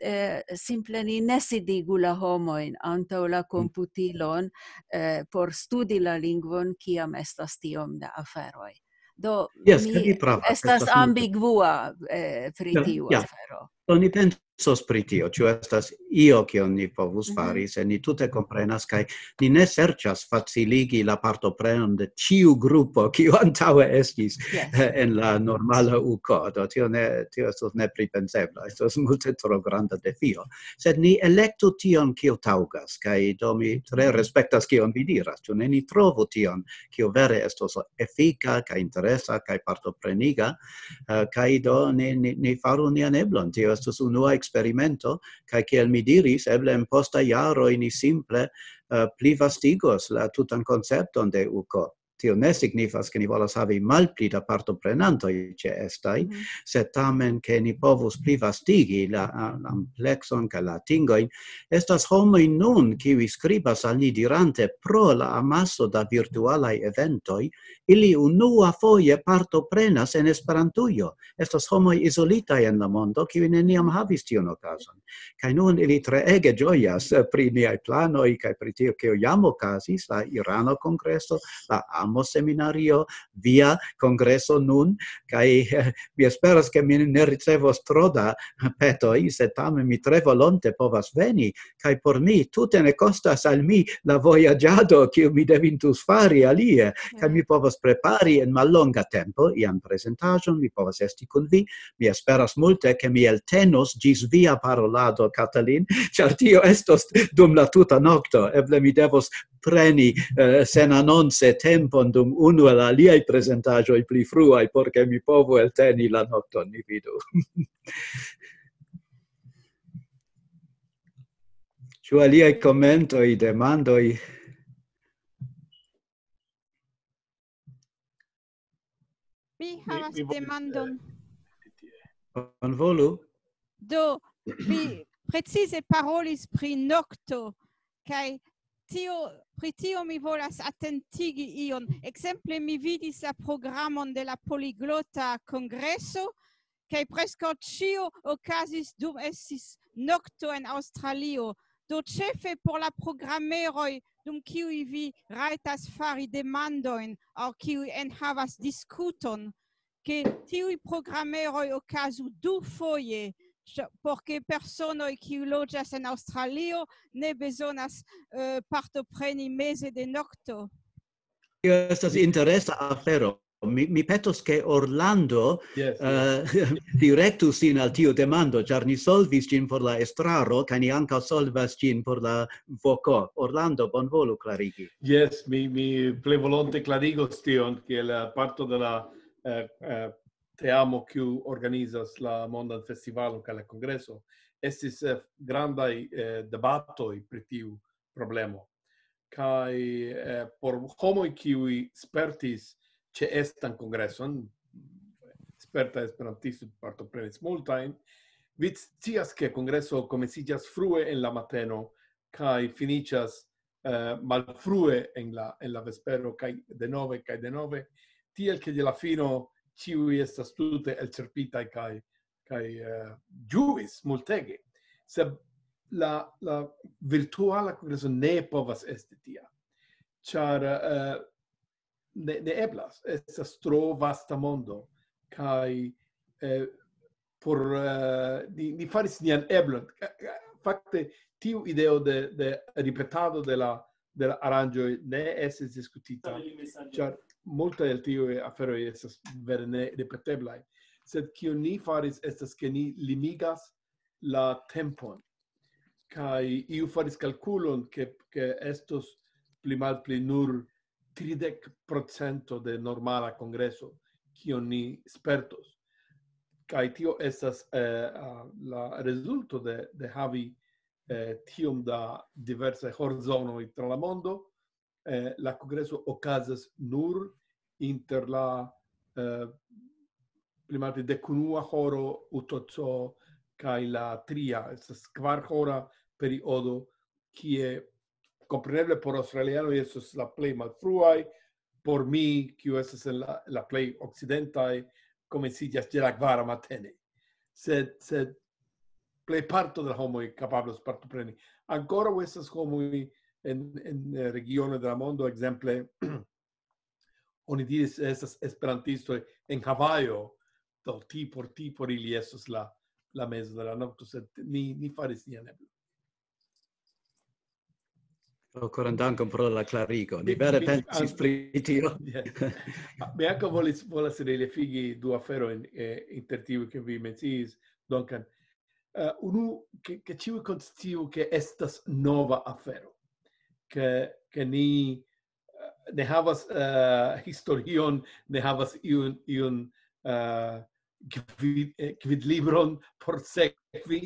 eh, simple ni ne sidigu la homojn antaŭ la komputilon, eh, por studi la lingvon, kiam estas tiom da aferoj. Do, Jes, mi kaj vi pravas, estas estas multe. Ambigua, eh, pri Ja, tiu ja. Afero. Do ni pensos pri tio, ĉu estas io, kion ni povus Mhm. fari, se ni tute komprenas, kaj ni ne serĉas faciligi la partoprenon de ĉiu grupo, kiu antaŭe estis, Yes. eh, en la normala uko. Do tio ne, tio estos nepripensebla, estos multe tro granda defio. Sed ni elektu tion, kio taŭgas, kaj do mi tre respektas, kion vi diras. Ĉu ne, ni trovu tion, kio vere estos efika, kaj interesa, kaj partopreniga, eh, kaj do ni, ni, ni faru nian eblon. Tio estos unua eksperimento, kaj kiel mi diris, eble en posta jaroj ni simple, eh, plivastigos la tutan koncepton de uko. Tio ne signifas, ke ni volas havi malpli da partoprenantoj ĉeestaj, Mhm. sed tamen, ke ni povus plivastigi la, a-, amplekson kaj la atingojn. Estas homoj nun, kiuj skribas al ni dirante pro la amaso da virtualaj eventoj, ili unua foje partoprenas en Esperantujo. Estas homoj izolitaj en la mondo, kiuj neniam havis tiun okazon. Kaj nun ili treege ĝojas, eh, pri niaj planoj kaj pri tio, kio jam okazis, la Irano kongreso, la Amo seminario, via kongreso nun, kaj, eh, mi esperas, ke mi ne ricevos tro da petoj, sed tamen mi tre volonte povas veni, kaj por mi tute ne kostas al mi la vojaĝado, kiu mi devintus fari alie, kaj mi povas prepari en mallonga tempo ian prezentaĵon, mi povas esti kun vi, mi esperas multe, ke mi eltenos ĝis via parolado, Katalin, ĉar tio estos dum la tuta nokto, eble mi devos preni, eh, senanonce tempon dum unu el aliaj prezentaĵoj pli fruaj, por ke mi povu elteni la nokton, ni vidu. Ĉu aliaj komentoj, demandoj? Mi havas demandon. Bonvolu. Do, vi precize parolis pri nokto, kaj tio, pri tio mi volas atentigi ion. Ekzemple, mi vidis la programon de la Poliglota Kongreso, kaj preskaŭ ĉio okazis dum estis nokto en Aŭstralio. Do ĉefe por la programeroj, dum kiuj vi rajtas fari demandojn aŭ kiuj enhavas diskuton, ke tiuj programeroj okazu dufoje, ĉ-, por ke personoj, kiuj loĝas en Aŭstralio, ne bezonas, eh, partopreni meze de nokto. Tio estas interesa afero. Mi, mi petos, ke Orlando, yes, yes, direktu sin al tiu demando, ĉar ni solvis ĝin por la estraro, kaj ni ankaŭ solvas ĝin por la voko. Orlando, bonvolu klarigi. Yes, mi, mi plej volonte klarigos tion, kiel, eh, parto de la, eh, eh, teamo, kiu organizas la Mondan Festivalon kaj la Kongreso. Estis, eh, grandaj, eh, debatoj pri tiu problemo. Kaj, eh, por homoj, kiuj spertis ĉeestan kongreson, sperta esperantisto partoprenis multajn, vi scias, ke kongreso komenciĝas frue en la mateno kaj finiĝas, eh, malfrue en la, en la vespero, kaj denove, kaj denove, tiel ke de la fino ĉiuj estas tute elĉerpitaj kaj, kaj, eh, ĝuis multege. Sed la, la virtuala kongreso ne povas esti tia, ĉar, eh, ne, ne eblas, estas tro vasta mondo, kaj, eh, por, eh, ni, ni faris nian eblon. Fakte, tiu ideo de, de ripetado de la, de la aranĝoj ne estis diskutita, ĉar multaj el tiuj aferoj estas vere ne ripeteblaj. Sed kion ni faris estas, ke ni limigas la tempon. Kaj iu faris kalkulon, ke, ke estos pli malpli nur tridek procento de normala kongreso, kion ni spertos. Kaj tio estas, eh, ah, la rezulto de, de havi, eh, tiom da diversaj horzonoj tra la mondo. Eh, la kongreso okazas nur inter la, eh, pli malpli dekunua horo U T C kaj la tria, estas kvar hora periodo, kie kompreneble por aŭstralianoj estos la plej malfruaj, por mi, kiu estas en la, la plej okcidentaj, komenciĝas ĉe la kvara matene. Sed, sed plej parto de la homoj kapablos partopreni. Ankoraŭ estas homoj en, en, eh, regiono de la mondo, ekzemple, oni diris, estas esperantistoj en Havajo, do ti por, ti por ili estos la, la mezo de la nokto, sed ni, ni faris nian eblon. Oh, koran dankon pro la klarigo. Ni Mi, vere mi, pensis an-, pri tio. Yes. Mi ankaŭ volis, volas relefigi du aferojn, eh, inter tiuj, ke vi menciis, Duncan. Eh, unu, ke, ke ĉiuj konsciu, ke estas nova afero, ke, ke ni, eh, ne havas, eh, historion, ne havas iun, iun, eh, gvid-, eh, gvidlibron por sekvi.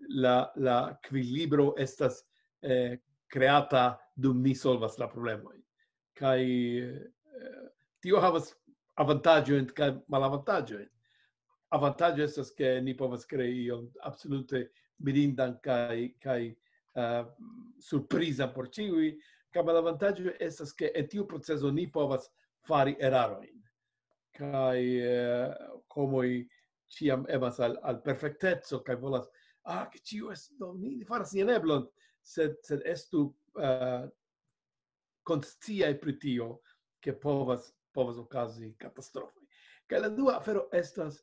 La, la gvidlibro estas, eh, kreata dum ni solvas la problemojn. Kaj, eh, tio havas avantaĝojn kaj malavantaĝojn. Avantaĝo estas, ke ni povas krei ion absolute mirindan kaj, kaj, eh, surprizan por ĉiuj. Kaj malavantaĝo estas, ke en tiu proceso ni povas fari erarojn. Kaj, eh, homoj ĉiam emas al, al perfekteco kaj volas, ah, ke ĉio estu, no, ni faras nian eblon, sed, sed estu, eh, konsciaj pri tio, ke povas, povas okazi katastrofoj. Kaj la dua afero estas,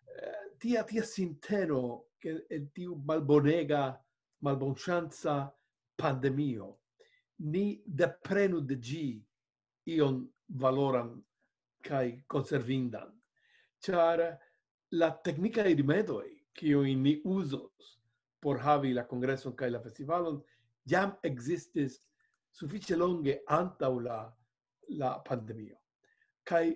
eh, tia, tia sinteno, ke en tiu malbonega, malbonŝanca pandemio, ni deprenu de ĝi ion valoran kaj konservindan. Ĉar la teknikaj rimedoj, kiujn ni uzos por havi la kongreson kaj la festivalon, jam ekzistis sufiĉe longe antaŭ la, la pandemio. Kaj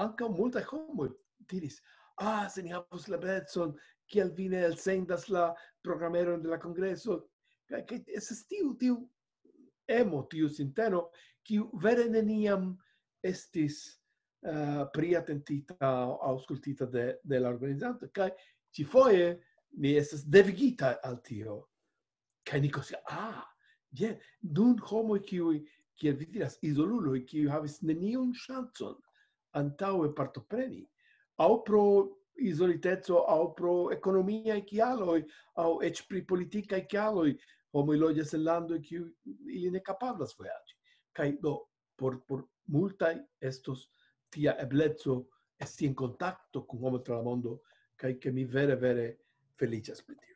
ankaŭ multaj homoj diris, ah, se ni havus la eblecon, kial vi ne elsendas la programeron de la kongreso? Kaj, kaj estas tiu, tiu emo, tiu sinteno, kiu vere neniam estis, eh, priatentita aŭ aŭskultita de, de la organizanto. Kaj ĉifoje ni estas devigita al tio. Kaj ni konsi-, ah, je, nun homoj, kiuj, kiel vi diras, izoluloj, kiuj havis neniun ŝancon antaŭe partopreni, aŭ pro izoliteco, aŭ pro ekonomiaj kialoj, aŭ eĉ pri politikaj kialoj, homoj loĝas en landoj, kiu ili ne kapablas vojaĝi. Kaj do, por, por multaj estos tia ebleco esti en kontakto kun homo tra la mondo, kaj ke mi vere, vere feliĉas pri tio.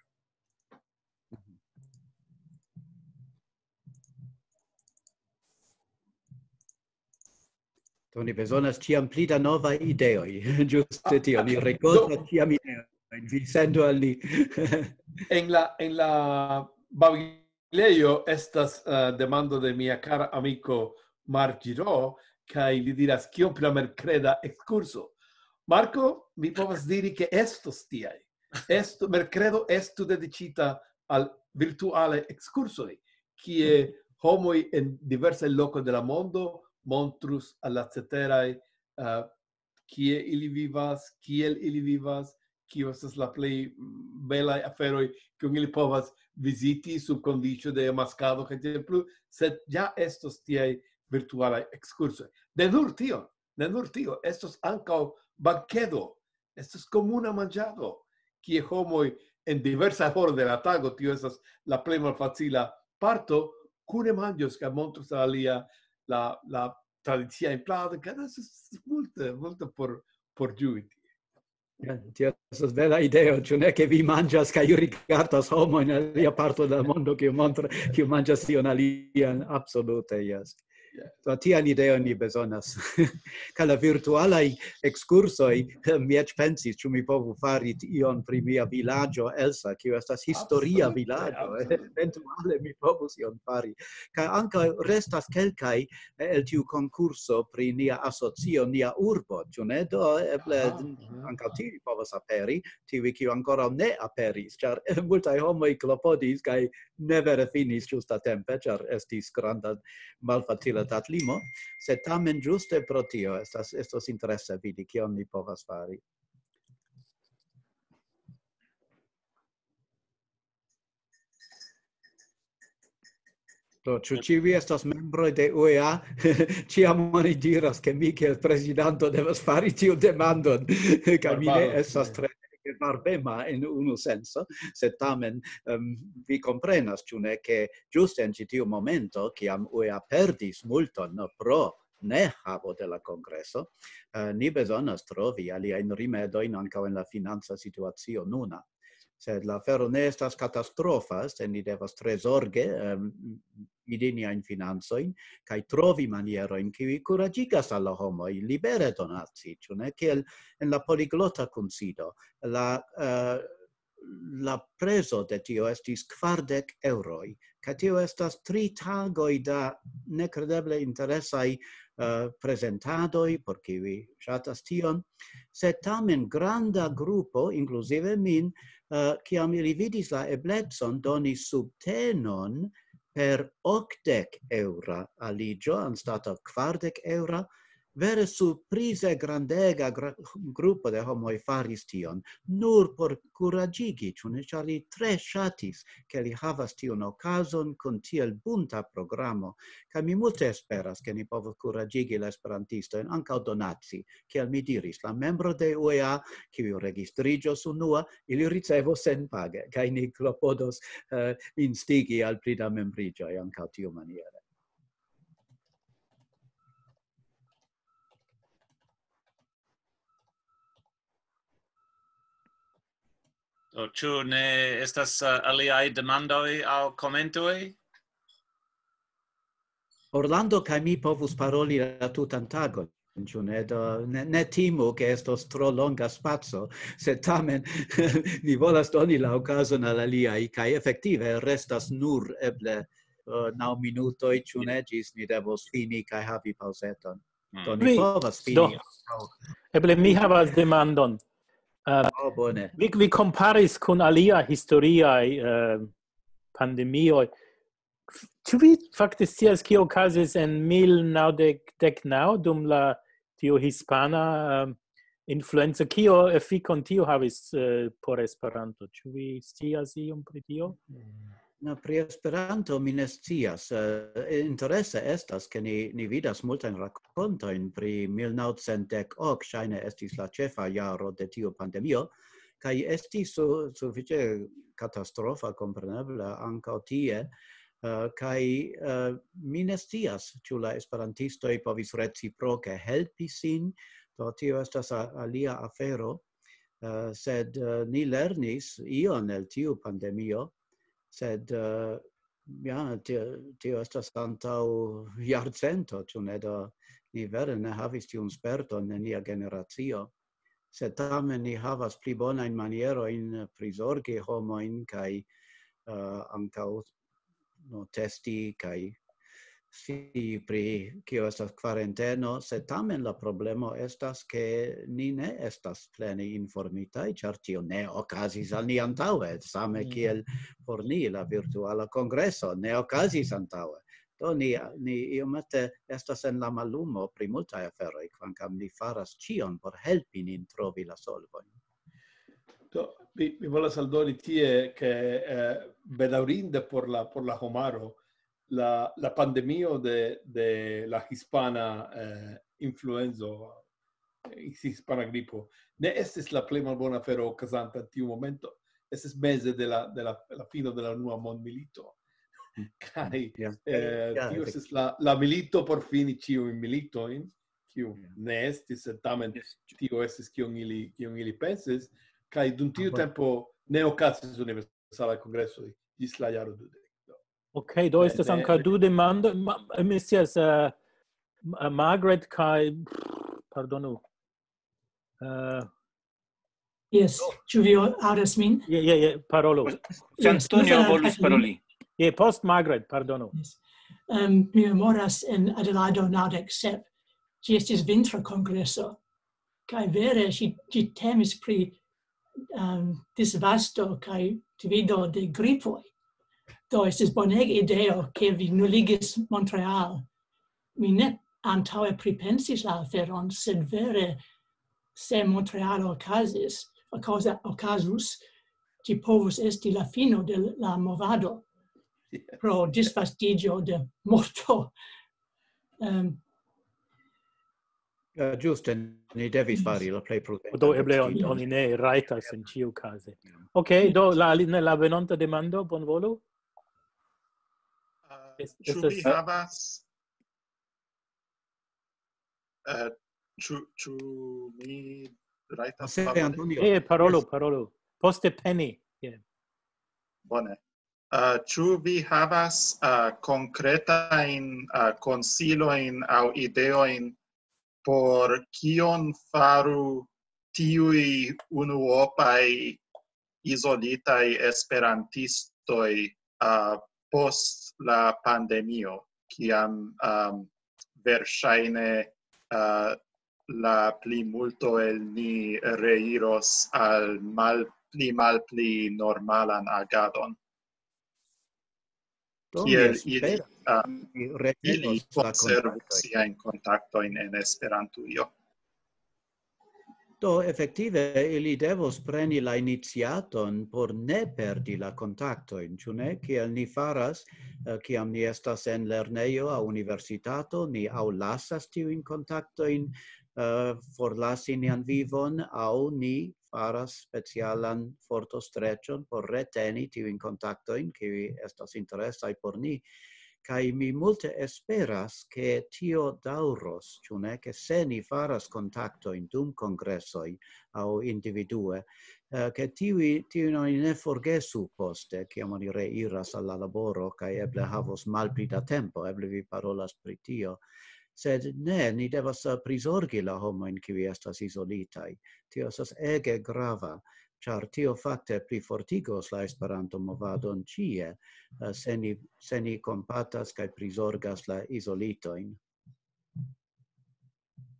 Do ni bezonas ĉiam pli da novaj ideoj. Ĝuste tio, ni rikoltas ĉiam ideojn. Vi sendu al ni. En la, en la babilejo estas, eh, demando de mia kara amiko Mark Giro, kaj li diras: "Kio pri la merkreda ekskurso?" Marko, mi povas diri, ke estos tiaj. Estu, merkredo estu dediĉita al virtualaj ekskursoj, kie homoj en diversaj lokoj de la mondo montrus al la ceteraj, eh, kie ili vivas, kiel ili vivas, kio estas la plej, mm, belaj aferoj, kiun ili povas viziti sub kondiĉo de maskado kaj tiel plu, sed ja estos tiaj virtualaj ekskursoj. Ne nur tio, ne nur tio, estos ankaŭ bankedo, estos komuna manĝado, kie homoj en diversaj horoj de la tago, tio estas la plej malfacila parto, kune manĝos kaj montros al alia la, la tradiciajn pladojn, kaj estas multe, multe por, por ĝui tie. Ja, tio estas bela ideo, ĉu ne, ke vi manĝas kaj rigardas homojn en alia parto de la mondo, kiu montra, kiu manĝas ion alian, absolute, jes. Yes. Do tian ideon ni bezonas. Kaj la virtualaj ekskursoj, mi eĉ pensis, ĉu mi povu fari ion pri mia vilaĝo, Elsa, kiu estas historia Absolute, vilaĝo. absolute. Eventuale mi povus ion fari. Kaj ankaŭ restas kelkaj, eh, el tiu konkurso pri nia asocio, nia urbo, ĉu ne? Do eble Aha, aha. ankaŭ tiuj povas aperi, tiuj, kiu ankoraŭ ne aperis, ĉar multaj homoj klopodis kaj ne vere finis ĝustatempe, ĉar estis granda malfacila datlimo, sed tamen ĝuste pro tio estas, estos interese vidi, kion ni povas fari. Do, ĉu ĉiuj estas membroj de U E A? Ĉiam oni diras, ke mi kiel prezidanto devas fari tiu demandon, kaj mi ne Barbaro, estas ne. Tre barbema en unu senso, sed tamen, em, vi komprenas, ĉu ne, ke ĝuste en ĉi tiu momento, kiam U E A perdis multon pro ne havo de la kongreso, eh, ni bezonas trovi aliajn rimedojn ankaŭ en la financa situacio nuna. Sed la afero ne estas katastrofa, se ni devas tre zorge, em, vidi niajn financojn, kaj trovi manierojn, kiuj kuraĝigas al la homoj libere donaci, ĉu ne? Kiel en la poliglota kunsido, la, eh, la prezo de tio estis kvardek eŭroj, kaj tio estas tri tagoj da nekredeble interesaj, eh, prezentadoj, por kiuj ŝatas tion, sed tamen granda grupo, inkluzive min, eh, kiam ili vidis la eblecon doni subtenon per okdek eŭra aliĝo anstataŭ kvardek eŭra, vere surprize grandega gra-, grupo de homoj faris tion, nur por kuraĝigi, ĉu ne, ĉar li tre ŝatis, ke li havas tiun okazon kun tiel bunta programo, kaj mi multe esperas, ke ni povos kuraĝigi la esperantistojn ankaŭ donaci, kiel mi diris, la membro de U E A, kiu registriĝos unua, ili ricevos senpage, kaj ni klopodos, eh, instigi al pli da membriĝoj ankaŭ tiumaniere. Do, ĉu ne estas, eh, aliaj demandoj aŭ komentoj? Orlando kaj mi povus paroli la tutan tagon, ĉu ne? Do, ne, ne timu, ke estos tro longa spaco, sed tamen ni volas doni la okazon al aliaj, kaj efektive restas nur eble, eh, naŭ minutoj, ĉu ne, ĝis ni devos fini kaj havi paŭzeton. Mm. Do ni Mi- povas fini do. ankaŭ. Eble mi havas demandon. Eh, Oh, bone. vi, vi komparis kun alia historiaj, eh, pandemioj. Ĉu vi fakte scias, kio okazis en mil naŭdek dek naŭ dum la, tiu hispana, eh, influenco? Kio efikon tio havis, eh, por Esperanto? Ĉu vi scias iom pri tio? No, pri Esperanto mi ne scias. Eh, interese estas, ke ni, ni vidas multajn rakontojn pri mil naŭcent dek ok, ŝajne estis la ĉefa jaro de tiu pandemio, kaj estis su-, sufiĉe katastrofa, kompreneble, ankaŭ tie, eh, kaj, eh, mi ne scias, ĉu la esperantistoj povis reciproke helpi sin, do tio estas a-, alia afero, eh, sed, eh, ni lernis ion el tiu pandemio, sed, eh, ja, tio, tio estas antaŭ jarcento, ĉu ne? Do ni vere ne havis tiun sperton en nia generacio, sed tamen ni havas pli bonajn manierojn prizorgi homojn kaj, eh, ankaŭ, no, testi kaj scii pri kio estas kvaranteno, sed tamen la problemo estas, ke ni ne estas plene informitaj, ĉar tio ne okazis al ni antaŭe, same Mhm. kiel por ni la virtuala kongreso ne okazis antaŭe. Do ni, ni iomete estas en la mallumo pri multaj aferoj, kvankam ni faras ĉion por helpi nin trovi la solvojn. Do, mi, mi volas aldoni tie, ke, eh, bedaŭrinde por la, por la homaro, la, la pandemio de, de la hispana, eh, influenzo, eh, hispana gripo, ne estis la plej malbona afero okazanta en tiu momento. Estis meze de la, de la, la fino de la unua mondmilito. Kaj, Ja. eh, Ja, tio efektive. estis la, la milito por fini ĉiujn militojn, kiu Ja. ne estis, sed tamen Yes. tio estis kion ili, kion ili pensis. Kaj dum tiu Ah, bueno. tempo ne okazis universalaj kongresoj ĝis la jaro dudek. Ok, do Ne, estas ne, ankaŭ ne. du demandoj. Ma-, mi scias, eh, Ma-, Margaret kaj, pardonu. Eh, Yes, ĉu vi aŭdas min? Je, je, je, parolu. Se Yes, Antonio mi volis paroli. Je, post Margaret, pardonu. Yes. Em, mi memoras en Adelaide naŭdek sep, ĝi estis vintra kongreso, kaj vere ĝi, ĝi temis pri, em, disvasto kaj divido de gripoj. Do estis bonega ideo, ke vi nuligis Montreal. Mi ne antaŭe pripensis la aferon, sed vere, se Montreal okazis, okaza-, okazus, ĝi povus esti la fino de la movado Yes. pro disvastiĝo de morto. Em, Ja, ĝuste, ni devis Yes. fari la plej prudentan Do eble on-, decidon. oni ne rajtas en ĉiu kaze. Ok, do la, ne, la venonta demando, bonvolu. Ah, Es-, ĉu estas vi havas, eh, ĉu, ĉu mi rajtas Se paroli? Antonio. Eh, parolu, Yes. parolu. Poste Penny. Yeah. Bone. Ah, ĉu vi havas, ah, konkretajn, ah, konsilojn aŭ ideojn por kion faru tiuj unuopaj izolitaj esperantistoj, ah, post la pandemio, kiam, ah, verŝajne, ah, la plimulto el ni reiros al mal-, pli malpli normalan agadon? Do, mi Kiel ili, esperas, ah, mi ili retenos la konservu kontaktojn. siajn kontaktojn en Esperantujo? Do, efektive, ili devos preni la iniciaton por ne perdi la kontaktojn, ĉu ne? Kiel ni faras, eh, kiam ni estas en lernejo aŭ universitato, ni aŭ lasas tiujn kontaktojn, eh, forlasi nian vivon, aŭ ni faras specialan fortostreĉon por reteni tiujn kontaktojn, kiuj estas interesaj por ni. Kaj mi multe esperas, ke tio daŭros, ĉu ne, ke se ni faras kontaktojn dum kongresoj aŭ individue, eh, ke tiuj, tiujn oni ne forgesu poste, kiam oni reiras al la laboro, kaj eble havos malpli da tempo, eble vi parolas pri tio. Sed ne, ni devas, eh, prizorgi la homojn, kiuj estas izolitaj. Tio estas ege grava, ĉar tio fakte plifortigos la Esperanto-movadon ĉie, eh, se ni, se ni kompatas kaj prizorgas la izolitojn.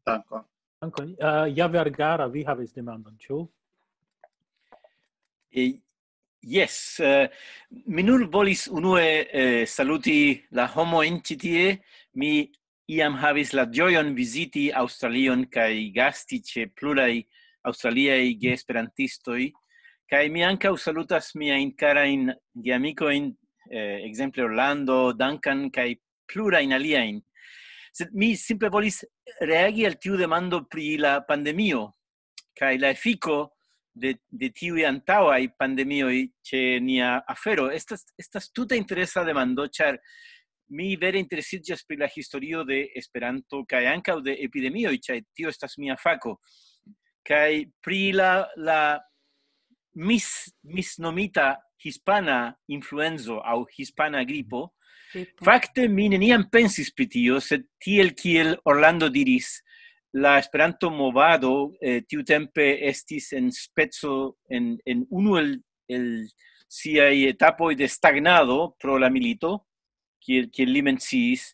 Dankon. Dankon. Eh, ja, Vergara, vi havis demandon, ĉu? Eh, yes, eh, mi nur volis unue, eh, saluti la homojn ĉi tie. Mi iam havis la ĝojon viziti Aŭstralion kaj gasti ĉe pluraj aŭstraliaj geesperantistoj. Kaj mi ankaŭ salutas miajn karajn geamikojn, eh, ekzemple Orlando, Duncan kaj plurajn aliajn. Sed mi simple volis reagi al tiu demando pri la pandemio kaj la efiko de, de tiuj antaŭaj pandemioj ĉe nia afero? Estas, estas tute interesa demando, ĉar mi vere interesiĝas pri la historio de Esperanto kaj ankaŭ de epidemioj, ĉar tio estas mia fako. Kaj pri la, la mis, misnomita hispana influenzo aŭ hispana gripo, fakte mi neniam pensis pri tio, sed tiel kiel Orlando diris, la Esperanto-movado, eh, tiutempe estis en speco, en, en unu el, el siaj etapoj de stagnado pro la milito, kiel, kiel li menciis,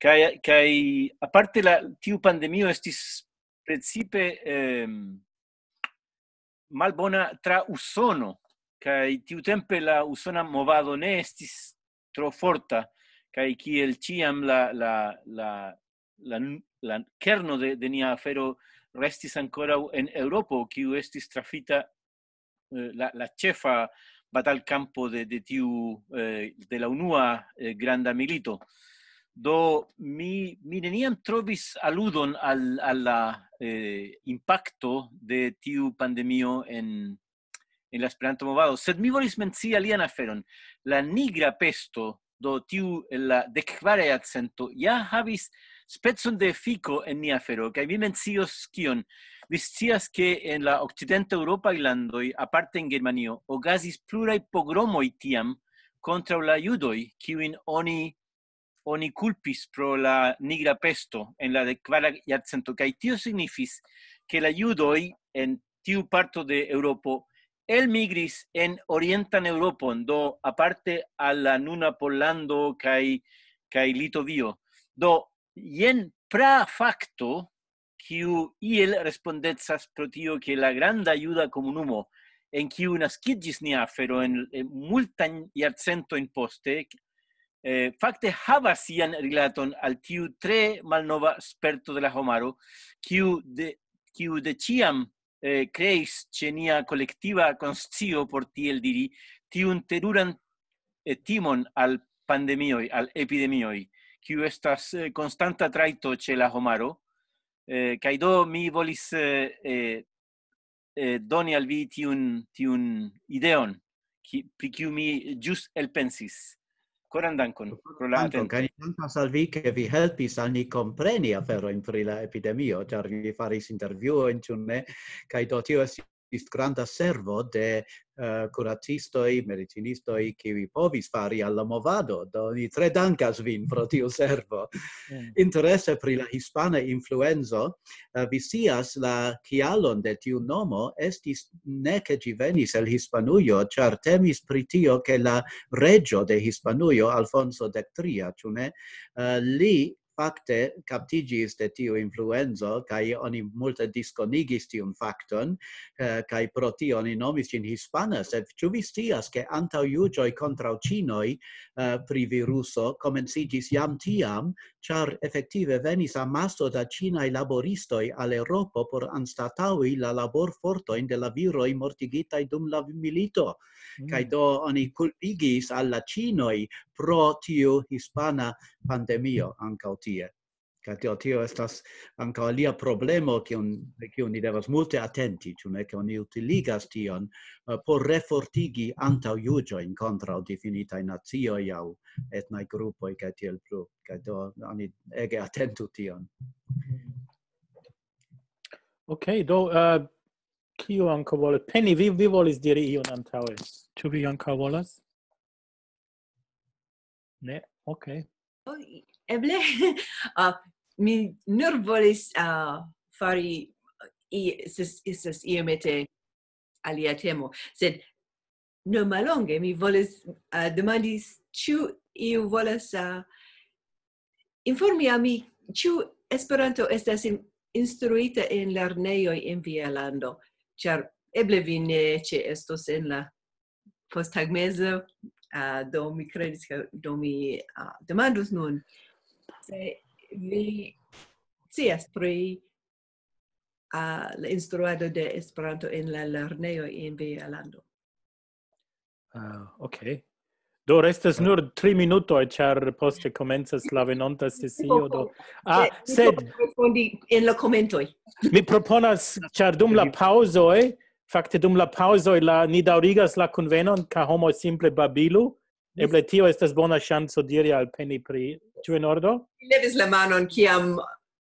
kaj, kaj aparte la, tiu pandemio estis precipe, em, malbona tra Usono, kaj tiutempe la usona movado ne estis tro forta, kaj kiel ĉiam la, la, la, la, la kerno de, de nia afero restis ankoraŭ en Eŭropo, kiu estis trafita, eh, la, la ĉefa batalkampo de, de tiu, eh, de la unua, eh, granda milito. Do mi, mi neniam trovis aludon al, al la, eh, impakto de tiu pandemio en, en la Esperanto-movado, sed mi volis mencii alian aferon. La nigra pesto, do tiu el la dek-kvara jarcento, ja havis specon de efiko en nia afero, kaj mi mencios kion. Vi scias, ke en la okcident-eŭropaj landoj, aparte en Germanio, okazis pluraj pogromoj tiam kontraŭ la judoj, kiujn oni, oni kulpis pro la nigra pesto en la dek-kvara jarcento, kaj tio signifis, ke la judoj en tiu parto de Eŭropo elmigris en orientan Eŭropon, do aparte al la nuna Pollando kaj, kaj Litovio. Do jen pra fakto, kiu iel respondecas pro tio, ke la granda juda komunumo, en kiu naskiĝis nia afero en, en multajn jarcentojn poste, eh, fakte havas sian rilaton al tiu tre malnova sperto de la homaro, kiu de, kiu de ĉiam, eh, kreis ĉe nia kolektiva konscio, por tiel diri, tiun teruran, eh, timon al pandemioj, al epidemioj, kiu estas, eh, konstanta trajto ĉe la homaro. Eh, kaj do mi volis, eh, eh, eh, doni al vi tiun, tiun ideon, ki, pri kiu mi ĵus elpensis. Koran dankon pro la Dankon, atento. Kaj ni dankas al vi, ke vi helpis al ni kompreni aferojn pri la epidemio, ĉar vi faris intervjuojn, ĉu ne? Kaj do tio estis granda servo de, eh, kuracistoj, medicinistoj, kiuj povis fari al la movado. Do ni tre dankas vin pro tiu servo. Mm. Interese pri la hispana influenzo, eh, vi scias la kialon de tiu nomo, estis ne ke ĝi venis el Hispanujo, ĉar temis pri tio, ke la reĝo de Hispanujo, Alfonso dek tria, ĉu ne, eh, li fakte kaptiĝis de tiu influenzo, kaj oni multe diskonigis tiun fakton, eh, kaj pro tio oni nomis ĝin hispana. Sed ĉu vi scias, ke antaŭjuĝoj kontraŭ ĉinoj, eh, pri viruso komenciĝis jam tiam, ĉar efektive venis amaso da ĉinaj laboristoj al Eŭropo por anstataŭi la laborfortojn de la viroj mortigitaj dum la milito. Mm. Kaj do oni kulpigis al la ĉinoj pro tiu hispana pandemio ankaŭ tie. Kaj tio, tio estas ankaŭ alia problemo, kiun, pri kiu ni devas multe atenti, ĉu ne, ke oni utiligas tion, eh, por refortigi antaŭjuĝojn kontraŭ difinitaj nacioj aŭ etnaj grupoj kaj tiel plu. Kaj do oni ege atentu tion. Ok, do, eh, kiu ankaŭ volas? Penny, vi, vi volis diri ion antaŭe. Ĉu vi ankaŭ volas? Ne? Ok. Oh, eble, ah, mi nur volis, ah, fari i-, estas, estas iomete alia temo, sed ne mallonge mi volis, ah, demandi, ĉu iu volas, ah, informi al mi, ĉu Esperanto estas in-, instruita en lernejoj en via lando, ĉar eble vi ne ĉeestos en la posttagmeze, ah, do mi kredis, ke do mi, ah, demandus nun. Se vi scias pri, ah, la instruado de Esperanto en la lernejoj en via lando. Ah, ok. Do restas nur tri minutoj, ĉar poste komencas la venonta sesio, do. Ah, Mi sed povas respondi en la komentoj. Mi proponas, ĉar dum la paŭzoj, Fakte dum la paŭzoj la ni daŭrigas la kunvenon, kaj homoj simple babilu. Eble tio estas bona ŝanco diri al Penny pri... Ĉu en ordo? Levis la manon kiam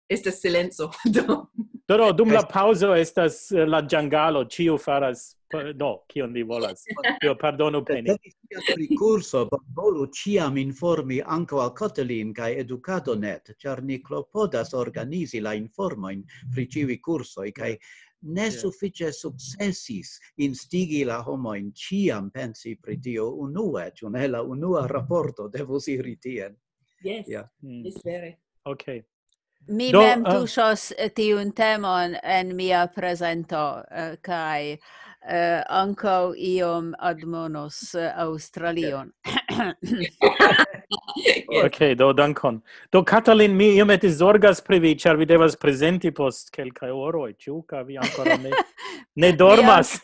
estas silenco. Do, Do, do, dum la paŭzo estas eh, la ĝangalo, ĉiu faras, pa- do, kion li volas. Jo, pardonu, Penny. Temis pri kurso, bonvolu ĉiam informi ankaŭ al Kotelin kaj Educado net, ĉar ni klopodas organizi la informojn pri ĉiuj kursoj, kaj ne sufiĉe sukcesis instigi la homojn ĉiam pensi pri tio unue, ĉu ne? La unua raporto devus iri tien. Yes, Ja. Mm, yes, vere. Ok. Mi Do, mem eh, tuŝos eh, tiun temon en mia prezento eh, kaj eh, ankaŭ iom admonos eh, Aŭstralion. Ok, do, dankon. Do, Katalin, mi iomete zorgas pri vi, ĉar vi devas prezenti post kelkaj horoj, ĉu? Kaj vi ankoraŭ ne, ne dormas.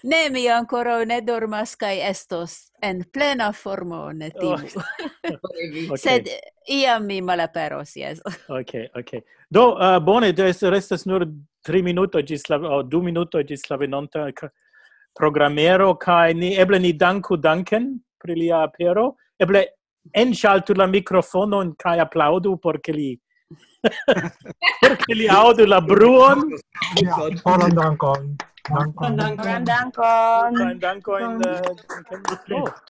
Ne, mi ankoraŭ ne dormas kaj estos en plena formo, ne timu. Ok. Sed iam mi malaperos, jes. Ok, ok. Do, uh, bone, do est, restas nur tri minutoj ĝis la, oh, du minutoj ĝis la venonta ka- programero, kaj ni eble ni danku Duncan pri lia apero. Eble enŝaltu la mikrofonon kaj aplaŭdu, por ke li, por ke li aŭdu la bruon. Ja, holan dankon. Dankon. Gran dankon. Kaj dankojn, eh, Duncan. Oh,